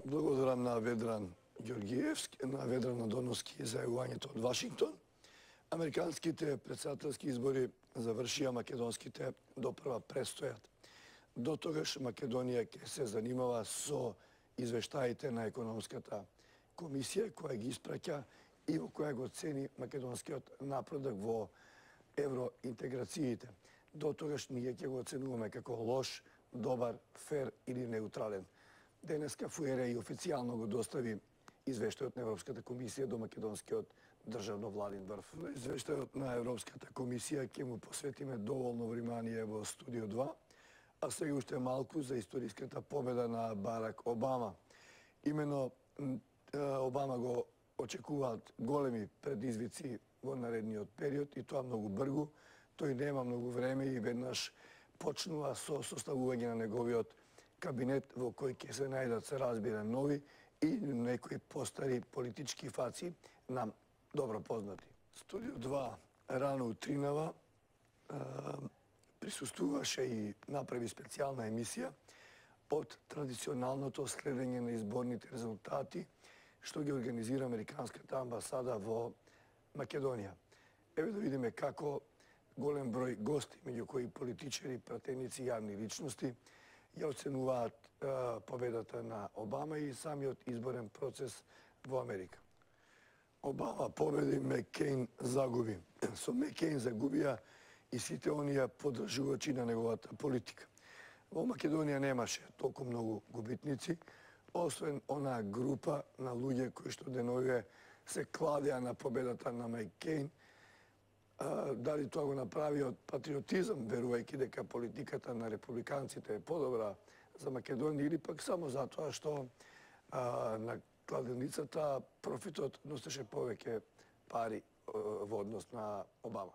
Благодарам на Ведран Ѓорѓиевски, на Ведран Надоновски за јавувањето од Вашингтон. Американските председателски избори завршија, македонските допрва престојат. До тогаш Македонија ќе се занимава со извештаите на економската комисија која ги испраќа и во која го цени македонскиот напредок во евроинтеграциите. До тогаш ние ќе го оценуваме како лош, добар, фер или неутрален. Денеска ФУЕРА и официјално го достави извештајот на Европската комисија до македонскиот државно владин врв. Извештајот на Европската комисија ќе му посветиме доволно внимание во Студио 2, а сега уште малку за историската победа на Барак Обама. Имено Обама го очекуваат големи предизвици во наредниот период и тоа многу бргу. Тој нема многу време и веднаш почнува со составување на неговиот кабинет во кој ќе се најдат, се разбира, нови и некои постари политички фаци нам добро познати. Студио 2 рано утринава присуствуваше и направи специјална емисија од традиционалното следење на изборните резултати што ги организира Американската амбасада во Македонија. Еве да видиме како голем број гости, меѓу кои политичари, пратеници, јавни личности, ја оценуваат победата на Обама и самиот изборен процес во Америка. Обама победи, Маккејн загуби. Со Маккејн загубија и сите оние поддржувачи на неговата политика. Во Македонија немаше толку многу губитници, освен онаа група на луѓе кои што деновиве се кладеа на победата на Маккејн. Дали тоа го направи од патриотизам, верувајќи дека политиката на републиканците е подобра за Македонија, или пак само затоа што на кладеницата профитот носеше повеќе пари во однос на Обама.